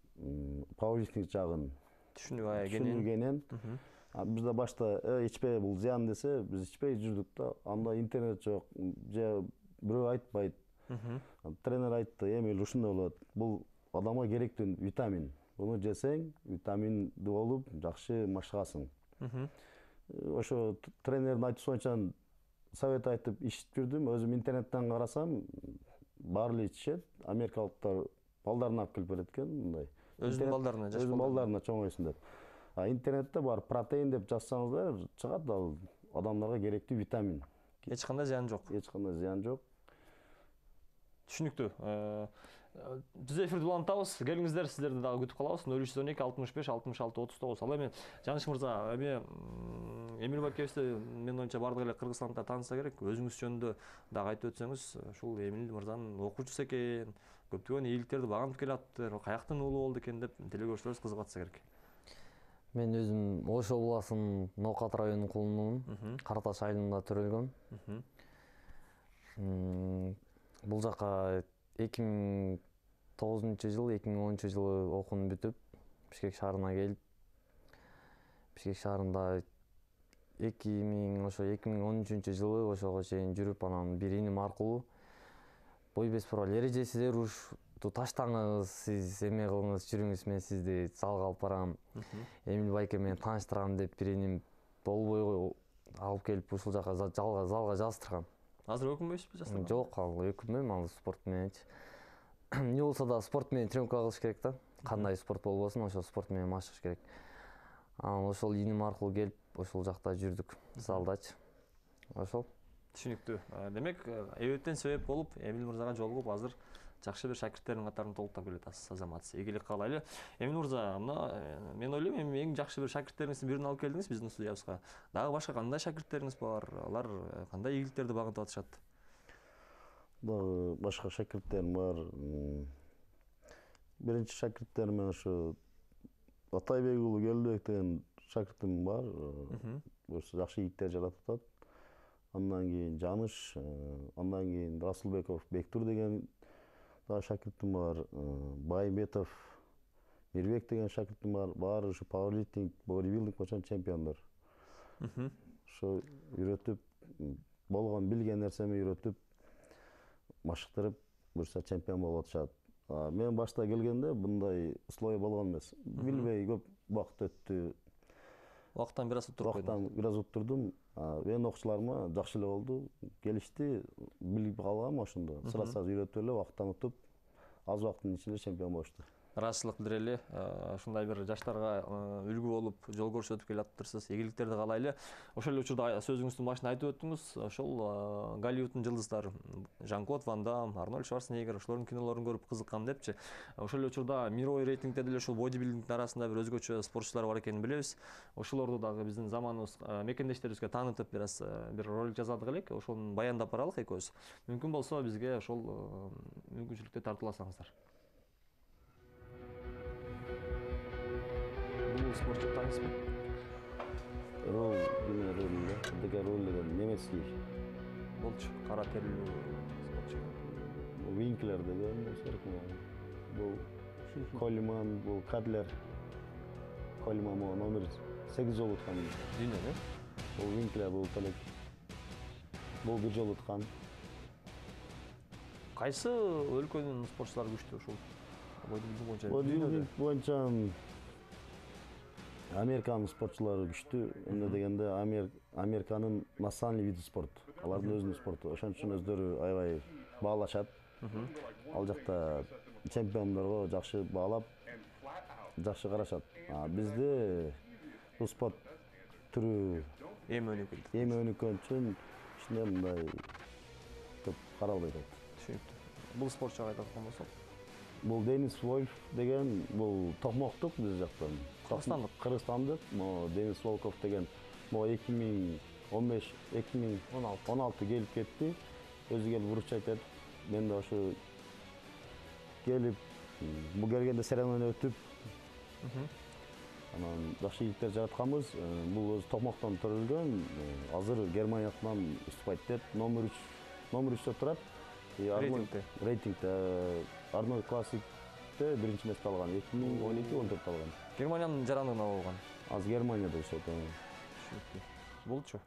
пауэрлифтинг жагын түшүнүгенен. Бизде башта ичпе бул зыян десе, биз ичпей жүрдүк да. Анда интернет жок, же бирөө айтпайт. Тренер айтты, Эмил ушундай болот. Бул адамга керектүү витамин. Буну жесең витаминдүү болуп жакшы машыгасың. Ошо тренердин айтуусунча совет айтып ичип жүрдүм. Өзүм интернеттен карасам, баары эле ичишет. Америкалыктар балдарын алып келип берет экен мындай.
Өзүнүн балдарына, жаш
Өзүнүн балдарына чоңойсун деп. А интернетте бар протеин деп жазсаңыздар чыгат, ал адамдарга керектүү витамин.
Эч кандай зыян жок.
Эч кандай зыян жок.
Түшүнүктүү. Түз эфирди улантабыз. Келиңиздер, сиздерди дагы күтүп калабыз. нөл үч жүз он эки алтымыш беш алтымыш алты отуз тогуз. Ал эми Жаныш мырза, эми Эмил Байкебизди менин оюмча бардык эле кыргызстандыктар тааныса керек. Өзүңүз жөнүндө дагы айтып өтсөңүз, ушул Эмил мырзанын окуучусу экен, көптөгөн ийгиликтерди багынтып келаптыр, каяктын уулу болду экен деп телекөрүүчүлөрүбүз кызыгып атса керек.
Мен өзүм Ош областынын Ноокат районунун кулунун Кара Таш айылында төрөлгөм. Бул жака эки миң тогузунчу жыл, эки миң онунчу жылы окууну бүтүп, Бишкек шаарына келип, Бишкек шаарында эки миң ошо эки миң он үчүнчү жылы ошого чейин жүрүп, анан бир иним аркылуу бой беспорол эрежеси рушту таштаңыз, сиз эме кылыңыз, жүрүңүз, мен сизди залга алып барам, Эмил Байке менен тааныштырам деп бир иним болбой алып келип ушул жака залга залга жаздырган.
Азыр өкүнбөйсүзбү жастар?
Жок, ал өкүнбөйм, ал спорт мененчи. Эмне болсо да спорт менен тренировка кылыш керек да. Кандай спорт болбосун, ошо спорт менен машыгыш керек. Анан ошол иним аркылуу келип, ошол жакта жүрдүк, залдачы. Ошол.
Түшүнүктүү. Демек, эбеттен себеп болуп, Эмил мырзага жолугуп, азыр жакшы бир шакирттердин катарын толуктап келатасыз, азаматсыз. Ийгилик каалайлы. Эмил мырза, мына мен ойлойм, эми эң жакшы бир шакирттериңиздин бирин алып келдиңиз биздин студиябызга. Дагы башка кандай шакирттериңиз бар? Алар кандай ийгиликтерди багынтып атышат?
Дагы башка шакирттерим бар. Биринчи шакирттерим мен ошо Атайбек уулу Келдибек деген шакиртим бар. Ошо жакшы ийгиликтер жаратып атат. Андан кийин Жаныш, андан кийин Расулбеков Бектур деген дагы шакиртим бар. Байымбетов Мирбек деген шакиртим бар. Баары ушу пауэрлифтинг, бодибилдинг боюнча чемпиондор. Ошо үйрөтүп, болгон билген нерсеми үйрөтүп, машыктырып, буюрса чемпион болуп атышат. Мен башта келгенде мындай условия болгон эмес. Билбей көп убакыт өттү.
Убакыттан бир аз утуруп койдум.
Убакыттан бир аз уттурдум. Менин окуучуларыма жакшы эле болду. Келишти, билип калгам ошондо. Сыра-сыра үйрөтүп эле убакыттан утуп, аз убакыттын ичинде чемпион болушту.
Ыраазычылык билдирели. Ушундай бир жаштарга үлгү болуп, жол көрсөтүп келатыптырсыз. Ийгиликтерди каалайлы. Ошол эле учурда сөзүңүздүн башында айтып өттүңүз, ошол Голливудтун жылдыздары Жан-Клод Ван Дам, Арнольд Шварценеггер ошолордун кинолорун көрүп кызыккан депчи. Ошол эле учурда мировой рейтингде деле ушул бодибилдингдин арасында бир өзгөчө спортчулар бар экенин билебиз. Ошолорду дагы биздин заманыбыз мекендештерибизге таанытып, бир аз бир ролик жасадык элек. Ошону баяндап баралык экөөбүз. Мүмкүн болсо бизге ошол мүмкүнчүлүктү тартууласаңыздар. Спортчу танысызбы?
Рол, деме ролунда, деген рол деген немецкий.
Болчу, кара терилүү спортчу.
Винклер деген бул Колиман, бул Кадлер. Колиман номер сегиз жолу уткан.
Дүйнөнү?
Бул Винклер бул талек. Бул бир жолу уткан.
Кайсы өлкөнүн спортчулары күчтүү ушул? Бодибилдинг боюнча.
Бодибилдинг боюнча Американын спортчулары күчтүү. Эмне дегенде Американын национальный види спорт. Алардын өзүнүн спорту. Ошон үчүн өздөрү аябай баалашат. Ал жакта чемпиондорго жакшы баалап, жакшы карашат. Бизде бул спорт түрү
эми өнүккөн.
Эми өнүккөн үчүн ичинде мындай көп каралбайт.
Түшүнүктүү. Бул спортчуга айткан болсок,
бул Денис Вольф деген бул токмоктук биз жактан.
Кыргызстандык.
Кыргызстандык. Мо Денис Волков деген мо эки миң он беш эки миң он алты келип кетти. Өзү келип урукчу айтат. Мен да ошо келип бул келгенде соревнование өтүп, анан жакшы ийгиликтер жаратканбыз. Бул өзү токмоктон төрөлгөн. Азыр Германиядан уступайт деп номер үч номер үчтө турат.
Рейтингде.
Рейтингде Арнольд Классикте биринчи месте алган. эки миң он эки он төрт алган.
Германиянын жарандыгына болгон.
Азыр Германияда жашайт.
Түшүнүктүү. Болчу.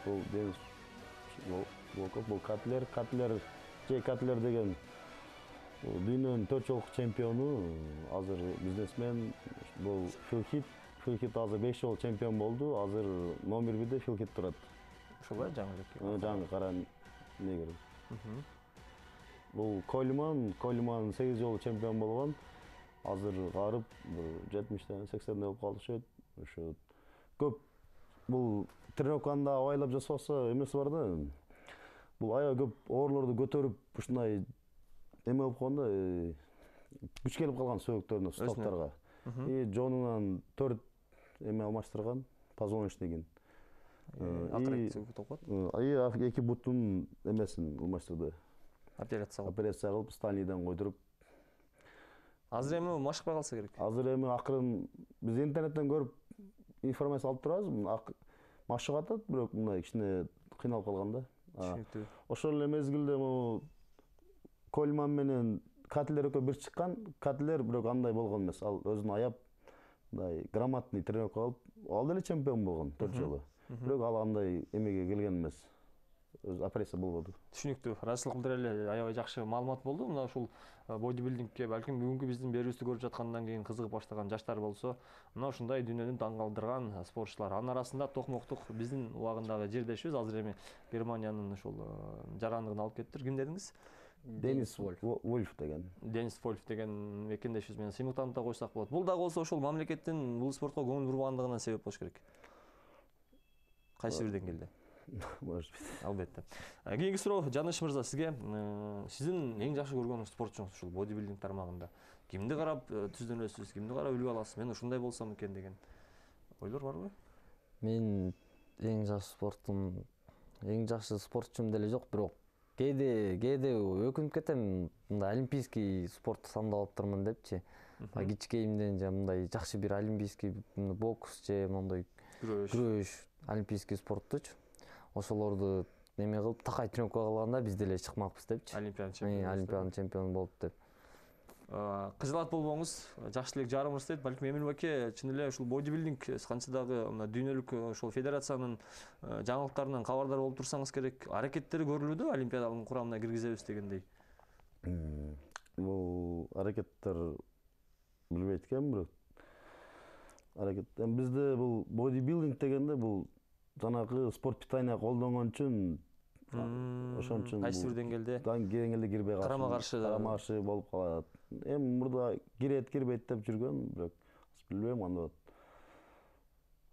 Бул Денис Волков, бул Катлер, Катлер, Джей Катлер деген Дүйнөнүн төрт жолку чемпиону, азыр бизнесмен, бул Филхит. Филхит азыр беш жолу чемпион болду, азыр номер бирде Филхит турат.
Ошолай жаңы элекке.
Жаңы кара негер. Бул Кольман, Кольман сегиз жолу чемпион болгон. Азыр карып, жетимиштен сексенден болуп калышат. Ошо көп бул тренировканы да абайлап жасаса эмеси бар да. Бул аябай көп оорлорду көтөрүп ушундай эме болуп калганда, күч келип калган сөөктөрүнө, столптарга. И жонунан төрт эме алмаштырган, позвоночнигин. И эки бутун эмесин алмаштырды.
Операция кылып.
Операция кылып, станийден койдуруп.
Азыр эми машыкпай калса керек.
Азыр эми акырын биз интернеттен көрүп информация алып турабыз. Машыгып атат, бирок мындай кичине кыйналып калган да.
Түшүнүктүү.
Ошол эле мезгилде могу Кольман менен Катлер экөө бир чыккан. Катлер бирок андай болгон эмес. Ал өзүн аяп, мындай грамотный тренировка алып, ал деле чемпион болгон төрт жолу. Бирок ал андай эмеге келген эмес. Өз операция болбоду.
Түшүнүктүү. Расылык билдире эле аябай жакшы маалымат болду. Мына ушул бодибилдингке балким бүгүнкү биздин берүүбүздү көрүп жаткандан кийин кызыгып баштаган жаштар болсо, мына ушундай дүйнөнү таң калтырган спортчулар. Анын арасында токмоктук биздин убагындагы жердешибиз азыр эми Германиянын ушул жарандыгын алып кетиптир. Ким дедиңиз?
Денис Вольф деген.
Денис Вольф деген мекендешибиз менен сыймыктанып да койсок болот. Бул дагы болсо ошол мамлекеттин бул спортко көңүл бурбагандыгынан себеп болуш керек. Кайсы бир деңгээлде?
Может быть.
Албетте. Кийинки суроо Жаныш мырза сизге. Сиздин эң жакшы көргөн спортчуңуз ушул бодибилдинг тармагында кимди карап түздөнөсүз, кимди карап үлгү аласыз? Мен ушундай болсом экен деген ойлор барбы?
Мен эң жакшы спортум, эң жакшы спортчум деле жок, бирок кээде кээде өкүнүп кетем, мындай олимпийский спортты тандап алыптырмын депчи. Кичикейимден же мындай жакшы бир олимпийский бокс же мондой күрөш, олимпийский спорттучу. Ошолорду неме кылып, такай тренировка кылганда биз деле чыкмакпыз депчи.
Олимпиада чемпиону.
Олимпиада чемпиону болуп деп.
Кызылат болбоңуз, жакшы элек жарымырыз дейт. Балким Эмил Баке чын эле ушул бодибилдинг канча дагы мына дүйнөлүк ошол федерациянын жаңылыктарынан кабардар болуп турсаңыз керек. Аракеттери көрүлүүдө олимпиадалын курамына киргизебиз дегендей.
Бул аракеттер билбейт экенмин, бирок аракет. Бизде бул бодибилдинг дегенде бул жанагы спорт питания колдонгон үчүн ошон үчүн
кайсы бир деңгээлде
деңгээлде кирбей калат.
Карама каршы
карама каршы болуп калат. Эми мурда кирет, кирбейт деп жүргөн, бирок билбейм кандай болот.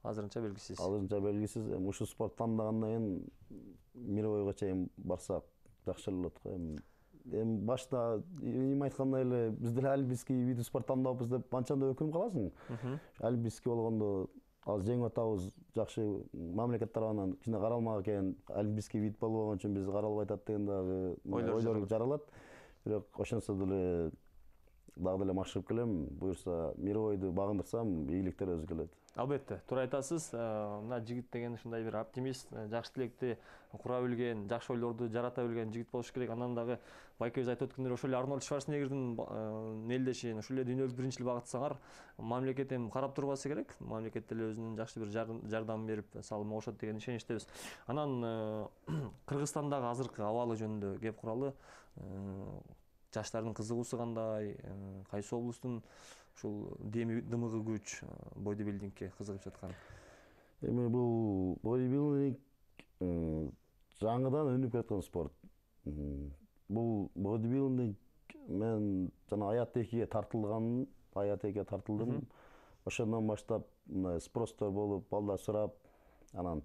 Азырынча белгисиз.
Азырынча белгисиз. Эми ушул спорт тандагандан кийин мировойго чейин барсак жакшы эле болот го. Эми эми башта эми айткандай эле биз деле олимпийский вид спорт тандабыз деп анчанда өкүнүп каласың. Олимпийский болгондо азыр жеңип атабыз, жакшы мамлекет тарабынан кичине каралмак экен, олимпийский вид болбогон үчүн биз каралбай атат деген дагы ойлор жаралат. Бирок ошонсо деле дагы деле машыгып келем, буюрса мировойду багындырсам ийгиликтер өзү келет.
Албетте, туура айтасыз. Мына жигит деген ушундай бир оптимист, жакшы тилекти кура билген, жакшы ойлорду жарата билген жигит болуш керек. Андан дагы байкебиз айтып өткөндөй ошол эле Арнольд Шварценеггердин мелдеши, ошол эле дүйнөлүк биринчилик багытсаңар, мамлекет эми карап турбасы керек. Мамлекет деле өзүнүн жакшы бир жардам берип, салым кошот деген ишеничтебиз. Анан Кыргызстандагы азыркы абалы жөнүндө кеп куралы. Жаштардын кызыгуусу кандай, кайсы облустун ушул дымыгы күч бодибилдингке кызыгып жаткан?
Эми бул бодибилдинг жаңыдан өнүгүп жаткан спорт. Бул бодибилдинг мен жана Аят экиге тартылган, Аят экиге тартылдым. Ошондон баштап мындай спростор болуп, балдар сурап, анан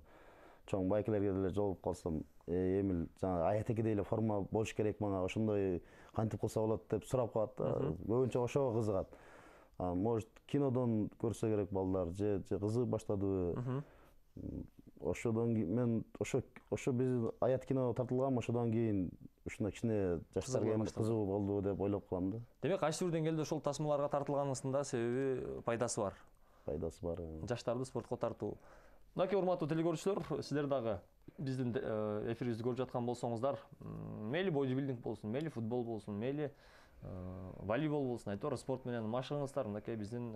чоң байкелерге деле жолугуп калсам, Эмил жана Аят экиде эле форма болуш керек мага, ошондой кантип кылса болот деп сурап калат да. Көбүнчө ошого кызыгат. Может, кинодон көрсө керек балдар, же же кызыгып баштадыбы. Ошодон кийин мен ошо ошо биз Аят кино тартылган, ошодон кийин ушуна кичине жаштарга эми кызыгуу болду деп ойлоп калам да.
Демек, кайсы бир деңгээлде ошол тасмаларга тартылганыңыздын да себеби пайдасы бар.
Пайдасы бар.
Жаштарды спортко тартуу. Мынакей урматтуу телекөрүүчүлөр, сиздер дагы биздин эфирибизди көрүп жаткан болсоңуздар, мейли бодибилдинг болсун, мейли футбол болсун, мейли волейбол болсун, айтор спорт менен машыгыңыздар, мынакей биздин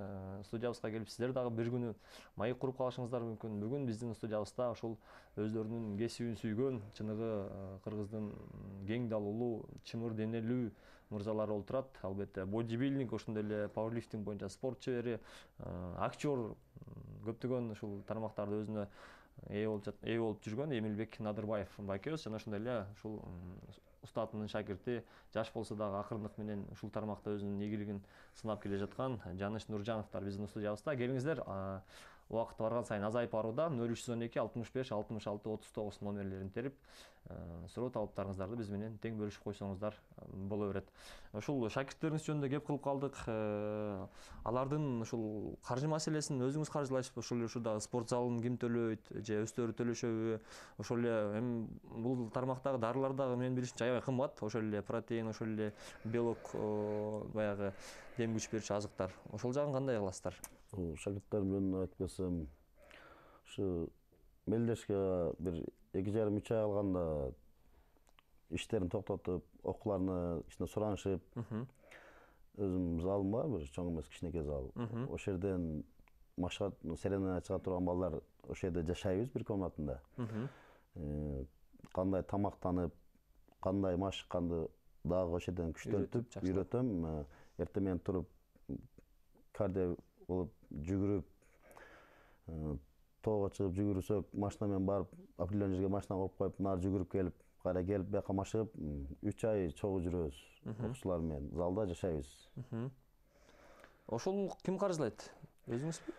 студиябызга келип сиздер дагы бир күнү маек куруп калышыңыздар мүмкүн. Бүгүн биздин студиябызда ошол өздөрүнүн кесибин сүйгөн, чыныгы кыргыздын кең далуулуу, чымыр денелүү мырзалары отурат. Албетте бодибилдинг, ошондой эле пауэрлифтинг боюнча спорт чебери, актер, көптөгөн ушул тармактарды өзүнө ээ болуп жүргөн Эмилбек Надырбаев байкебиз жана ошондой эле ушул устатынын шакирти, жаш болсо дагы акырындык менен ушул тармакта өзүнүн ийгилигин сынап келе жаткан Жаныш Нуржановдор биздин студиябызда. Келиңиздер, убакыт барган сайын азайып барууда. нөл үч жүз он эки алтымыш беш алтымыш алты отуз тогуз номерлерин терип, суроо талаптарыңыздарды биз менен тең бөлүшүп койсоңуздар боло берет. Ушул шакирттериңиз жөнүндө кеп кылып калдык. Алардын ушул каржы маселесин өзүңүз каржылайсызбы? Ошол эле ушурдагы спорт залын ким төлөйт, же өздөрү төлөшөбү? Ошол эле эми бул тармактагы дарылар дагы менин билишимче аябай кымбат. Ошол эле протеин, ошол эле белок, баягы дем күч берүүчү азыктар. Ошол жагын кандай кыласыздар?
Шакирттер менен айтып келсем, ушу мелдешке бир эки жарым үч ай калганда иштерин токтотуп, окууларына ичине суранышып, өзүм залым бар, бир чоң эмес кичинекей зал. Ошол жерден машыга, серена чыга турган балдар ошол жерде жашайбыз бир комнатында. Кандай тамактанып, кандай машыкканды дагы ошол жерден күчтөнтүп, үйрөтөм. Эртең менен туруп кардио болуп жүгүрүп, тоого чыгып жүгүрсөк, машина менен барып, определенный жерге машина коюп коюп, нары жүгүрүп келип, кайра келип, бияка машыгып, үч ай чогуу жүрөбүз. Окуучулар менен залда жашайбыз.
Ошол ким каржылайт? Өзүңүзбү?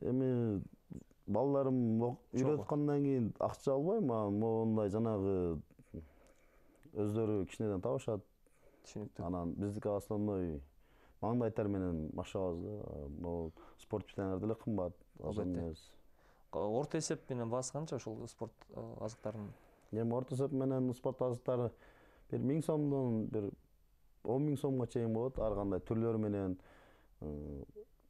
Эми балдарым үйрөткөндөн кийин акча албайм, мондай жанагы өздөрү кичинеден табышат.
Түшүнүктүү.
Анан биздики основной маңдайтар менен машыгабыз да. Могу спорт питаниялар деле кымбат, азыр эмес.
Орто эсеп менен баасы канча ошол спорт азыктарынын?
Эми орто эсеп менен спорт азыктары бир миң сомдон бир он миң сомго чейин болот. Ар кандай түрлөрү менен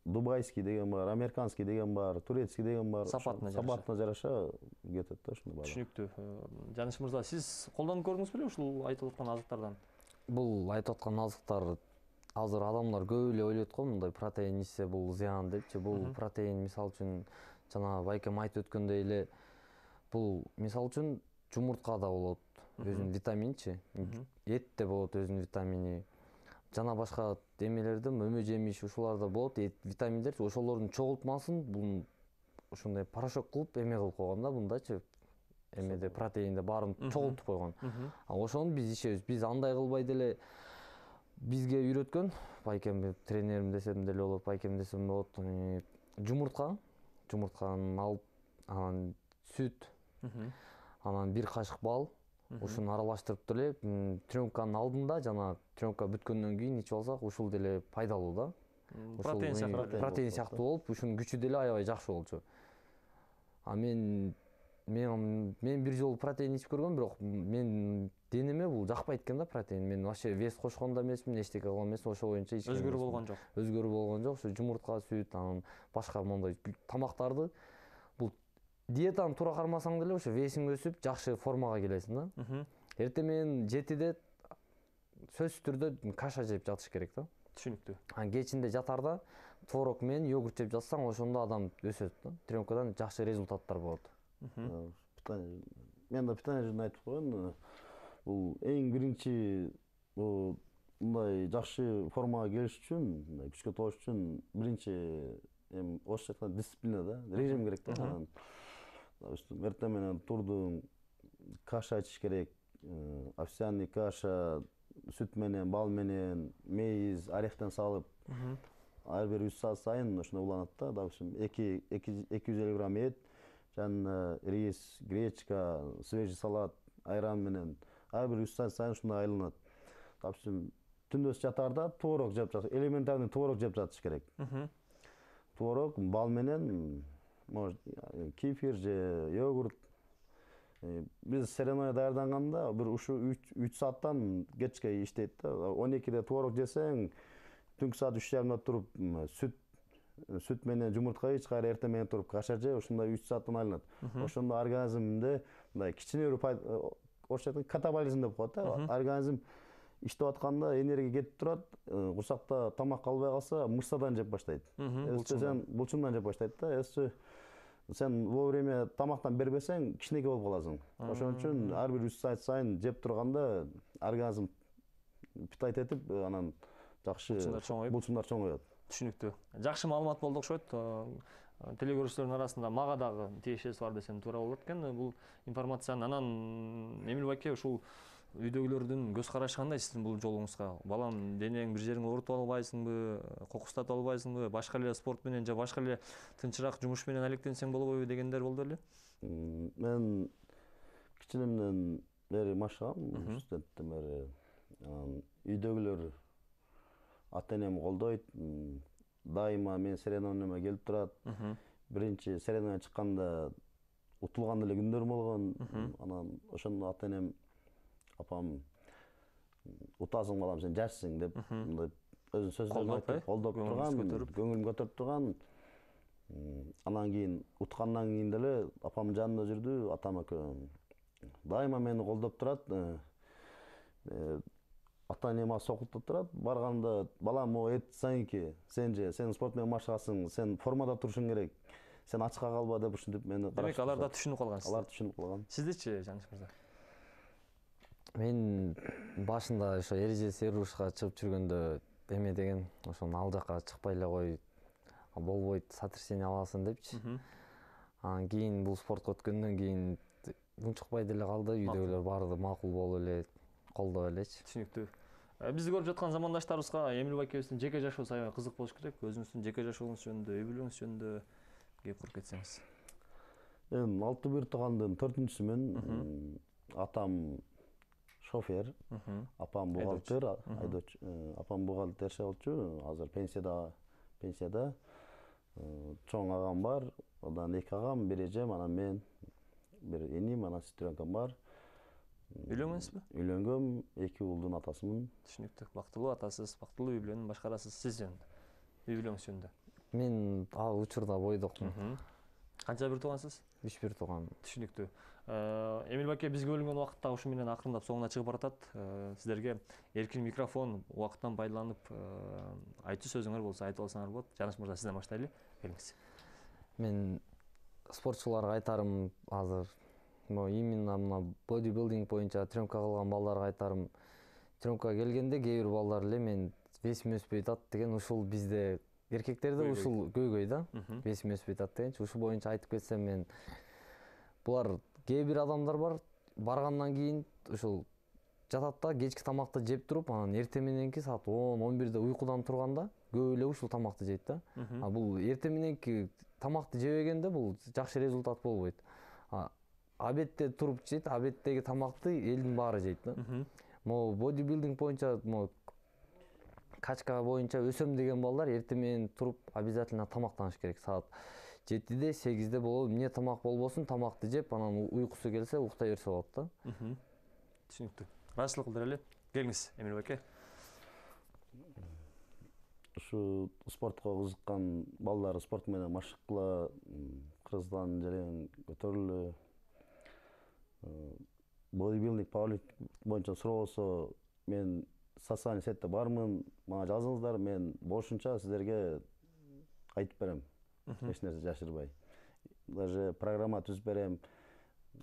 дубайский деген бар, американский деген бар, турецкий деген бар.
Сапатына жараша.
Сапатына жараша кетет да ушуну баары.
Түшүнүктүү. Жаныш мырза, сиз колдонуп көрдүңүз беле ушул айтылып аткан азыктардан?
Бул айтып аткан азыктар азыр адамдар көп эле ойлойт го, мындай протеин ичсе бул зыян депчи. Бул протеин мисалы үчүн жана байкем айтып өткөндөй эле бул мисалы үчүн жумурткада болот өзүнүн витаминчи, этте болот өзүнүн витамини. Жана башка эмелерде мөмө жемиш ушуларда болот витаминдер. Ошолордун чогултмасын бул ушундай порошок кылып эме кылып койгон да бундачы. Эмеде протеинде баарын чогултуп койгон. А ошону биз ичебиз. Биз андай кылбай деле бизге үйрөткөн, байкем тренерим десем деле болот, байкем десем болот. Жумуртка, жумуртканы алып, анан сүт, анан бир кашык бал, ушуну аралаштырып деле тренировканын алдында жана тренировка бүткөндөн кийин ичип алсак, ушул деле пайдалуу да.
Протеин сыяктуу.
Протеин сыяктуу болуп, ушунун күчү деле аябай жакшы болчу. А мен мен мен бир жолу протеин ичип көргөм, бирок мен денеме бул жакпайт экен да протеин. Мен вообще вес кошкон да эмесмин, эчтеке кылган эмесмин, ошол боюнча ичкен.
Өзгөрүү болгон жок.
Өзгөрүү болгон жок. Ушу жумуртка, сүт, анан башка моундай тамактарды бул диетаны туура кармасаң деле ошо весиң өсүп, жакшы формага келесиң да. Эртең менен жетиде сөзсүз түрдө каша жеп жатыш керек да.
Түшүнүктүү.
Анан кечинде жатарда творог менен йогурт жеп жатсаң, ошондо адам өсөт да. Тренировкадан жакшы результаттар болот.
Мен да питание жөнүндө айтып коеюн. Бул эң биринчи бул мындай жакшы формага келиш үчүн, күчкө тогуш үчүн биринчи эми орусча айтканда дисциплина да, режим керек да. Анан допустим эртең менен турдуң, каша ичиш керек, овсяный каша, сүт менен, бал менен, мейиз, орехтен салып, ар бир үч саат сайын ошондой уланат да. Допустим эки жүз элүү грамм эт, жана рис, гречка, свежий салат, айран менен ар бир үч саат сайын ушундай айланат. Допустим түндөс жатарда творог жеп жатыш, элементарный творог жеп жатыш керек. Творог, бал менен, может, кефир же йогурт. Биз соревнование даярданганда бир ушу үч сааттан кечке иштейт да. он экиде творог жесең, түнкү саат үч жарымда туруп сүт сүт менен жумуртка ич, кайра эртең менен туруп каша же, ушундай үч сааттан айланат. Ошондо организмде мындай кичине бир орусча айтканда катаболизм деп коет да. Организм иштеп атканда энергия кетип турат, курсакта тамак калбай калса мышцадан жеп баштайт. Эссе сен булчуңдан жеп баштайт да. Эссе сен вовремя тамактан бербесең кичинекей болуп каласың. Ошон үчүн ар бир үч саат сайын жеп турганда организм питать этип, анан жакшы булчуңдар чоңоёт.
Түшүнүктүү. Жакшы маалымат болду окшойт. Телегөрүүчүлөрдүн арасында мага дагы тиешеси бар десем туура болот экен бул информацияны. Анан Эмил байке, ушул үйдөгүлөрдүн көз карашы кандай сиздин бул жолуңузга? Балам, денең бир жериңе оорутуп албайсыңбы, кокустатып албайсыңбы, башка эле спорт менен же башка эле тынчыраак жумуш менен алектенсең болобойбу дегендер болду беле?
Мен кичинемден бери машыгам, студенттен бери. Үйдөгүлөр ата энем колдойт. Дайыма мен соревнованияма келип турат. Биринчи соревнования чыкканда утулган эле күндөрүм болгон. Анан ошондо ата энем, апам, утасың балам, сен жашсың деп, мындай өзүнүн сөздөрүн айтып, колдоп турган, көңүлүм көтөрүп турган. Анан кийин уткандан кийин деле апам жанында жүрдү, атам экөө дайыма мени колдоп турат. Ата энем сокултуп турат. Барганда балам, о эт сайынки, сен же сен спорт менен машыгасың, сен формада турушуң керек. Сен ачка калба деп ушинтип мени караш.
Демек алар да түшүнүп калган.
Алар түшүнүп калган.
Сиздичи, Жаныш мырза?
Мен башында ошо эреже серушка чыгып жүргөндө эме деген, ошону ал жака чыкпай эле кой, болбойт, сотрясение аласың депчи. Анан кийин бул спортко өткөндөн кийин унчукпай деле калды, үйдөгүлөр баары макул болуп эле, колдоп элечи.
Түшүнүктүү. Бизди көрүп жаткан замандаштарыбызга Эмил байкебиздин жеке жашоосу аябай кызык болуш керек. Өзүңүздүн жеке жашооңуз жөнүндө, үй бүлөңүз жөнүндө кеп куруп кетсеңиз.
Мен алты бир туугандын төртүнчүсүмүн. Атам шофер, апам бухгалтер, апам бухгалтерчи болчу, азыр пенсияда, пенсияда. Чоң агам бар, одан эки агам, бир эжем, анан мен, бир эним, анан сестренкам бар.
Үйлөнгөнсүзбү?
Үйлөнгөм, эки уулдун атасымын.
Түшүнүктүү. Бактылуу атасыз, бактылуу үй бүлөнү башкарасыз. Сиз жөнүндө, үй бүлөңүз жөнүндө.
Мен ал учурда бойдокмун.
Канча бир туугансыз?
үч бир тууган.
Түшүнүктүү. Эмил байке, бизге бөлүнгөн убакыт да ушу менен акырындап соңуна чыгып баратат. Сиздерге эркин микрофон убакыттан пайдаланып айтуу сөзүңөр болсо айтып алсаңар болот. Жаныш мырза, сизден баштайлы. Келиңиз.
Мен спортчуларга айтарым, азыр именно мына бодибилдинг боюнча тренировка кылган балдарга айтарым, тренировкага келгенде кээ бир балдар эле мен весим өспөй атат деген, ушул бизде эркектерде ушул көйгөй да, весим өспөй атат дегенчи. Ушул боюнча айтып кетсем, мен булар кээ бир адамдар бар, баргандан кийин ушул жатат да, кечки тамакты жеп туруп, анан эртең мененки саат он он бирде уйкудан турганда көп эле ушул тамакты жейт да. А бул эртең мененки тамакты жебегенде бул жакшы результат болбойт. Обедте туруп жейт, обедтеги тамакты элдин баары жейт да. Могу бодибилдинг боюнча, могу качка боюнча өсөм деген балдар эртең менен туруп обязательно тамактаныш керек. Саат жетиде, сегизде болобу, эмне тамак болбосун, тамакты жеп, анан уйкусу келсе уктай берсе болот да.
Түшүнүктүү. Ыраазычылык билдирели. Келиңиз, Эмил байке.
Ушу спортко кызыккан балдар спорт менен машыккыла, кыргызстан жерин көтөрүлү. Бодибилдинг, пауэрлифтинг боюнча суроо болсо, мен социальный сетте бармын, мага жазыңыздар, мен болушунча сиздерге айтып берем. Эч нерсе жашырбай. Даже программа түзүп берем,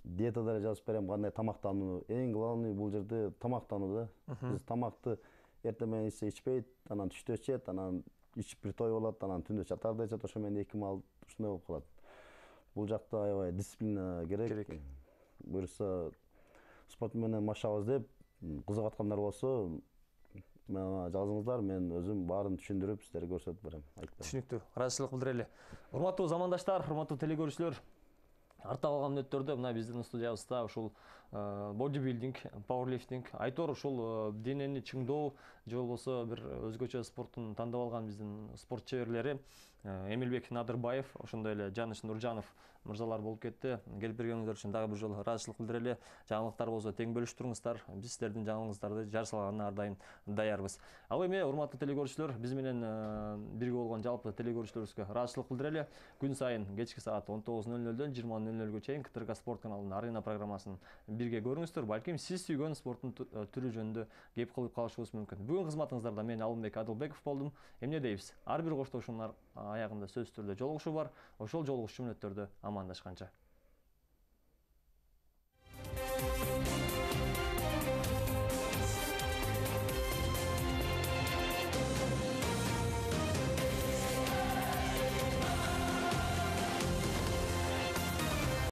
диета да жазып берем, кандай тамактануу. Эң главный бул жерде тамактануу да. Биз тамакты эртең менен ичсе ичпейт, анан түштө ичет, анан ичип бир той болот, анан түндө чатарда ичет, ошо менен эки маал ушундай болуп калат. Бул жакта аябай дисциплина керек. Буюрса спорт менен машыгабыз деп кызыгып аткандар болсо, мага жазыңыздар, мен өзүм баарын түшүндүрүп сиздерге көрсөтүп берем.
Түшүнүктүү. Ыраазычылык билдирели. Урматтуу замандаштар, урматтуу телегөрүүчүлөр, артта калган мүнөттөрдө мына биздин студиябызда ушул бодибилдинг, пауэрлифтинг, айтор ушул денени чыңдоо же болбосо бир өзгөчө спорттун тандап алган биздин спорт чеберлери Эмилбек Надырбаев, ошондой эле Жаныш Нуржанов мырзалар болуп кетти. Келип бергениңиздер үчүн дагы бир жолу ыраазычылык билдирели. Жаңылыктар болсо тең бөлүштүрүңүздар. Биз сиздердин жаңылыгыңыздарды жар салганына ар дайым даярбыз. Ал эми урматтуу телекөрүүчүлөр, биз менен бирге болгон жалпы телекөрүүчүлөрүбүзгө ыраазычылык билдирели. Күн сайын кечки саат он тогуз нөл нөлдөн жыйырма нөл нөлгө чейин КТРК спорт каналынын Арена программасын бирге көрүңүздөр. Балким сиз сүйгөн спорттун түрү жөнүндө кеп кылып калышыбыз мүмкүн. Бүгүн кызматыңыздарда мен Алымбек Адылбеков болдум. Эмне дейбиз? Ар бир коштошуунун аягында сөзсүз түрдө жолугушуу бар. Ошол жолугушуу мүнөттөрдө амандашканча.